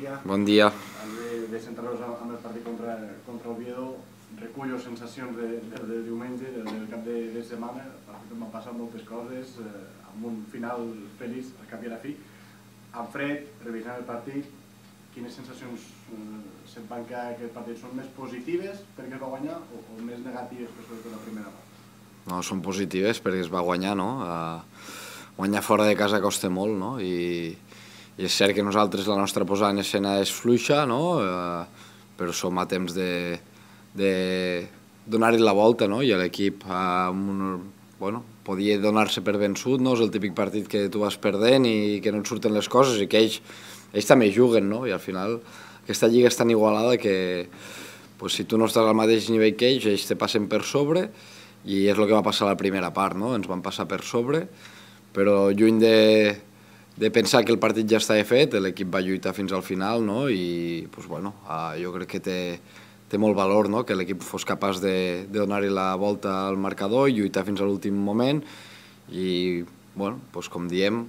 dia. Bon dia. De centrar-nos amb el partit contra Oviedo, recullo sensacions del diumenge, del cap de setmana. M'han passat moltes coses, amb un final feliç al cap i a la fi. En fred, revisant el partit, quines sensacions se'n van quedar aquest partit? Són més positives perquè es va guanyar o més negatives per sobretot la primera part? No, són positives perquè es va guanyar, no? Guanyar fora de casa costa molt, no? I és cert que nosaltres la nostra posada en escena és fluixa, no? Però som a temps de donar-hi la volta, no? I l'equip podia donar-se per vençut, no? És el típic partit que tu vas perdent i que no et surten les coses i que ells també juguen, no? I al final aquesta lliga és tan igualada que si tu no estàs al mateix nivell que ells te passen per sobre i és el que va passar a la primera part, no? Ens van passar per sobre, però lluny de pensar que el partit ja estava fet, l'equip va lluitar fins al final, no? I jo crec que té molt valor, no? Que l'equip fos capaç de donar-hi la volta al marcador i lluitar fins a l'últim moment i, com diem,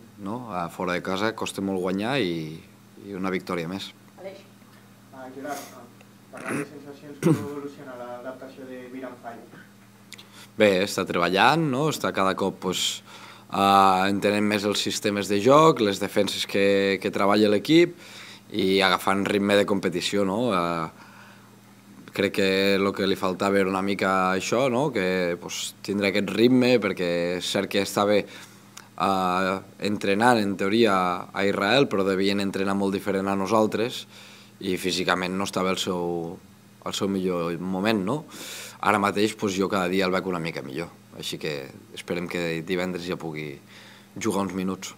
fora de casa costa molt guanyar i una victòria més. Aleix. Gerard, parlant de sensacions, com evoluciona l'adaptació de Viran Fai? Bé, està treballant, està cada cop entenent més els sistemes de joc, les defenses que treballa l'equip i agafant ritme de competició. Crec que el que li faltava era una mica això, que tindre aquest ritme, perquè és cert que estava entrenant en teoria a Israel, però devien entrenar molt diferent a nosaltres i físicament no estava al seu millor moment. Ara mateix jo cada dia el veig una mica millor, així que esperem que divendres ja pugui jugar uns minuts.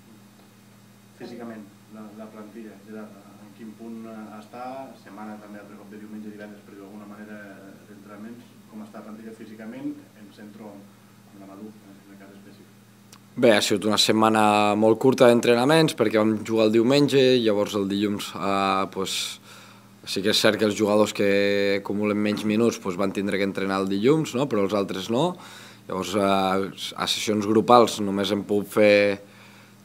Físicament, la plantilla, Gerard, en quin punt està? Setmana també, altre cop de diumenge i divendres, però d'alguna manera d'entrenaments, com està la plantilla físicament? Em centro en la Madú, en el cas específic. Bé, ha sigut una setmana molt curta d'entrenaments perquè vam jugar el diumenge, llavors el dilluns sí que és cert que els jugadors que acumulen menys minuts van tindre que entrenar el dilluns, però els altres no. Llavors, a sessions grupals només hem pogut fer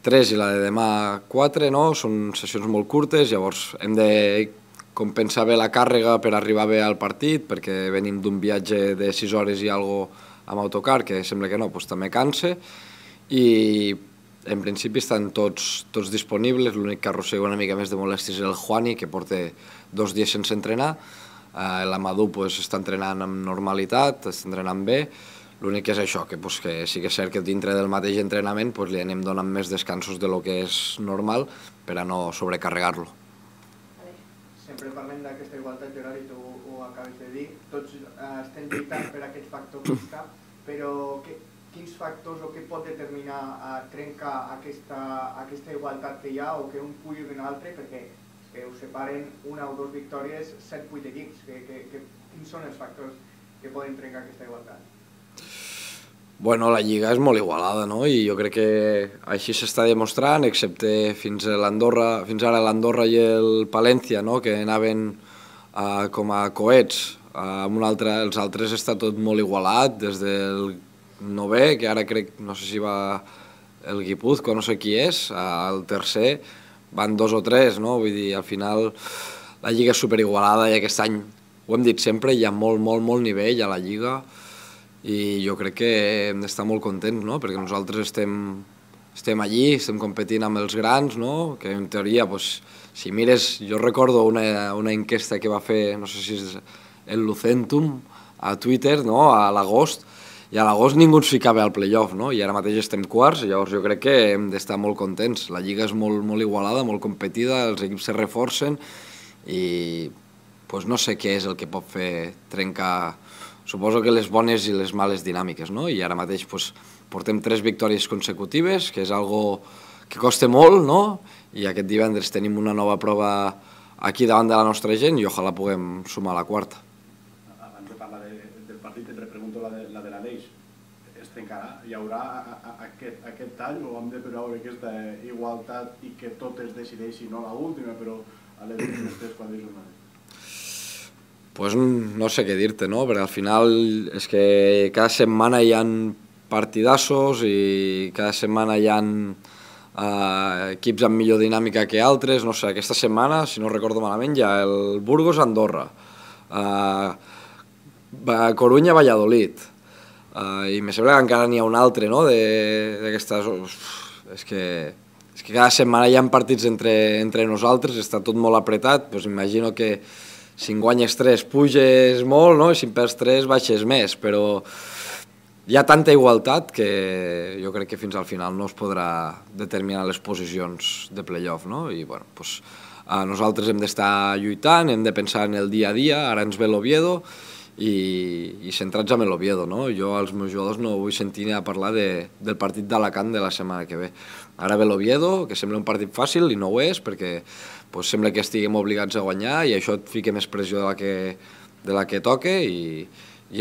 3 i la de demà 4, són sessions molt curtes, llavors hem de compensar bé la càrrega per arribar bé al partit, perquè venim d'un viatge de 6 hores i alguna cosa amb autocar, que sembla que no, també cansa, i en principi estan tots disponibles. L'únic que arrossega una mica més de molèsties és el Juani, que porta 2 dies sense entrenar. L'Amadou està entrenant amb normalitat, està entrenant bé. L'únic que és això, que sí que és cert que dintre del mateix entrenament li anem donant més descansos de lo que és normal per a no sobrecarregar-lo. Sempre parlem d'aquesta igualtat, Gerard, i tu ho acabes de dir. Tots estem lluitant per aquest factor pista, però quins factors o què pot determinar trencar aquesta igualtat que hi ha o que un pugui un altre, perquè us separen 1 o 2 victòries 7-8 equips. Quins són els factors que poden trencar aquesta igualtat? Bueno, la lliga és molt igualada, i jo crec que així s'està demostrant, excepte fins ara l'Andorra i el Palència, que anaven com a coets. Els altres està tot molt igualat, des del 9è, que ara crec, no sé si va el Guipúzcoa, no sé qui és, al tercer van 2 o 3, vull dir, al final la lliga és superigualada i aquest any, ho hem dit sempre, hi ha molt nivell a la lliga i jo crec que hem d'estar molt contents, perquè nosaltres estem allí, estem competint amb els grans, que en teoria, si mires, jo recordo una enquesta que va fer, no sé si és el Lucentum, a Twitter, a l'agost, i a l'agost ningú ens ficava al playoff, i ara mateix estem quarts, llavors jo crec que hem d'estar molt contents. La lliga és molt igualada, molt competida, els equips se reforcen i no sé què és el que pot fer trencar, suposo que les bones i les males dinàmiques, i ara mateix portem 3 victòries consecutives, que és algo que costa molt, i aquest divendres tenim una nova prova aquí davant de la nostra gent i ojalà puguem sumar la 4ª. Abans de parlar del partit, et repregunto la de l'Aleix. Es trencarà? Hi haurà aquest tall o hem de veure aquesta igualtat i que tot es decideixi, no l'última, però a les últimes 3-4 jornades? No sé què dir-te, perquè al final és que cada setmana hi ha partidassos i cada setmana hi ha equips amb millor dinàmica que altres, no sé, aquesta setmana, si no recordo malament, hi ha el Burgos-Andorra, Corunya-Valladolid, i me sembla que encara n'hi ha un altre, no?, d'aquestes... És que cada setmana hi ha partits entre nosaltres, està tot molt apretat, doncs imagino que si en guanyes 3 puges molt, no?, i si en perds 3 baixes més, però hi ha tanta igualtat que jo crec que fins al final no es podrà determinar les posicions de playoff, no? I bueno, doncs, nosaltres hem d'estar lluitant, hem de pensar en el dia a dia, ara ens ve l'Oviedo i centrats en l'Oviedo, no? Jo als meus jugadors no vull sentir ni a parlar del partit d'Alacant de la setmana que ve. Ara ve l'Oviedo, que sembla un partit fàcil i no ho és, perquè sembla que estiguem obligats a guanyar i això et fica més pressió de la que toca i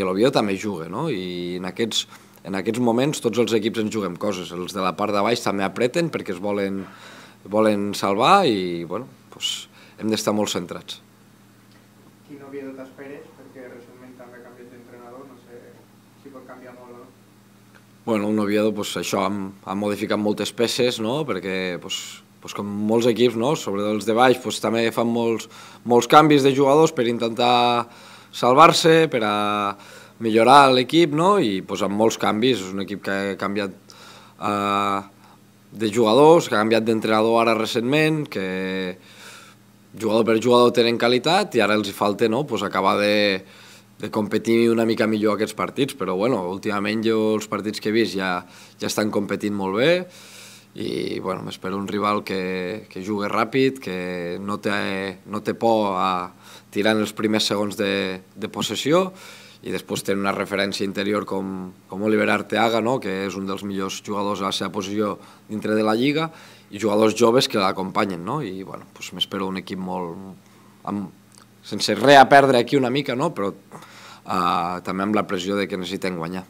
l'Oviedo també juga, no? I en aquests moments tots els equips ens juguem coses, els de la part de baix també apreten perquè es volen salvar i bueno, doncs hem d'estar molt centrats. Quin Oviedo t'esperes? Perquè recentment també ha canviat d'entrenador, no sé si pot canviar molt o no. Bueno, un Oviedo, això, ha modificat moltes peces, no?, perquè com molts equips, no?, sobretot els de baix, també fan molts canvis de jugadors per intentar salvar-se, per a millorar l'equip, no?, i amb molts canvis. És un equip que ha canviat de jugadors, que ha canviat d'entrenador ara recentment, que jugador per jugador tenen qualitat i ara els hi falta, no?, acabar de competir una mica millor aquests partits, però bueno, últimament jo els partits que he vist ja estan competint molt bé i bueno, m'espero un rival que jugui ràpid, que no té por a tirar en els primers segons de possessió i després té una referència interior com Oliver Arteaga, no?, que és un dels millors jugadors a la seva posició dintre de la Lliga, i jugadors joves que l'acompanyen, no? I bueno, m'espero un equip sense res a perdre aquí una mica, no?, però també amb la pressió de que necessitem guanyar.